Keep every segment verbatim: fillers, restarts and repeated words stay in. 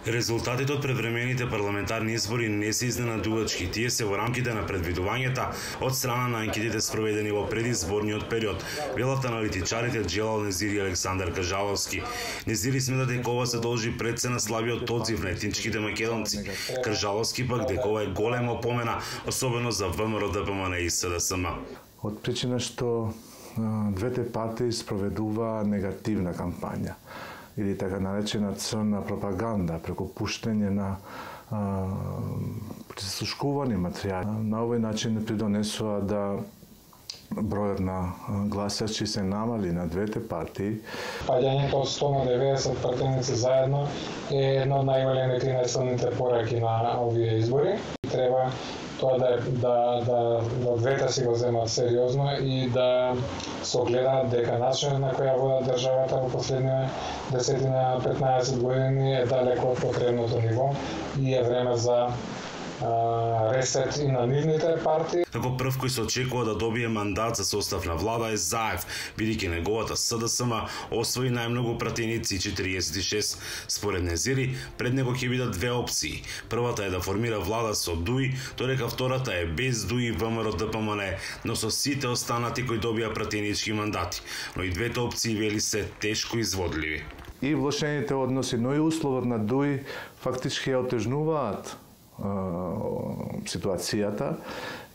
Резултатите од превремените парламентарни избори не се изненадувачки. Тие се во рамките на предвидувањата од страна на анкетите спроведени во предизборниот период, велат аналитичарите Джелал Незири и Александар Кажаловски. Незири смета дека ова се должи пред се на слабиот одзив на етничките македонци. Кажаловски пак дека ова е голема помена, особено за ВМРО, ДПМН и СДСМ. Од причина што двете партии спроведува негативна кампања или така наречена црна пропаганда преку пуштење на прислушкувани материјали. На овој начин придонесува да бројот на гласачи се намали на двете партии. Паѓањето од сто на деветдесет пратеници заедно е една од најголемите и најсилните пораки на овие избори. Треба тоа да, да, да, да двете си го земат сериозно и да се огледаат дека начинот на која вода државата во последниве десетина петнаесет години е далеко од потребното ниво и е време за ресет и на нивните партии. Како прв кој се очекува да добие мандат за состав на влада е Заев, бидејќи неговата СДСМ освои најмногу пратеници четириесет и шест. Според Незири, пред него ќе бидат две опции. Првата е да формира влада со ДУИ, додека втората е без ДУИ, ВМРО, ДПМН, но со сите останати кои добија пратенички мандати. Но и двете опции, вели, се тешко изводливи. И влошените односи, но и условот на ДУИ фактички ја отежнуваат ситуацијата,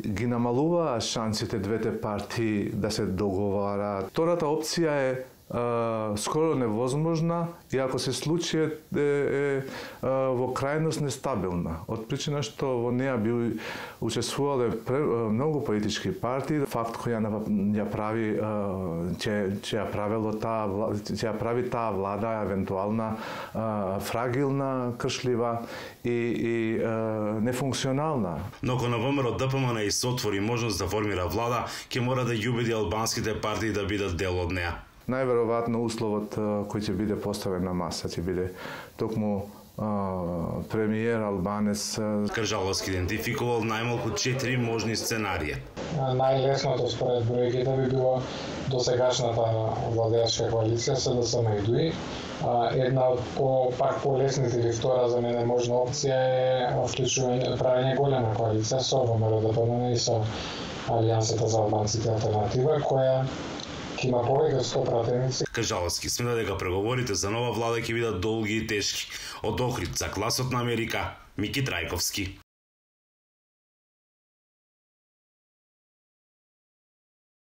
ги намалува шансите двете партии да се договараат. Втората опција е Uh, скоро невозможна и ако се случи е, е, е во крајност нестабилна. Од причина што во неа би учествувале многу политички партии, факт кој ја прави ќе ќе ја правело таа ќе ја прави таа влада евентуална фрагилна, кршлива и, и нефункционална. Но ако на ВМРО, ДПМН и се отвори можност да формира влада, ќе мора да ја убеди албанските партии да бидат дел од неа. Најверојатно условот кој ќе биде поставен на маса ќе биде токму премиер албанец. Кажаловски идентификувал најмалку четири можни сценарија. Најлесното според бројките би било досегашната владеачка коалиција СДСМ и ДУИ. Една од по, пак полесните или втора за мене можна опција е вклучување правење голема коалиција со ВМРО, ДПМН и со Алијансата за албанците алтернатива, која има повеќе сто пратеници. Кажаловски смета дека преговорите за нова влада ќе бидат долги и тешки. Од Охрид за Гласот на Америка, Мики Трајковски.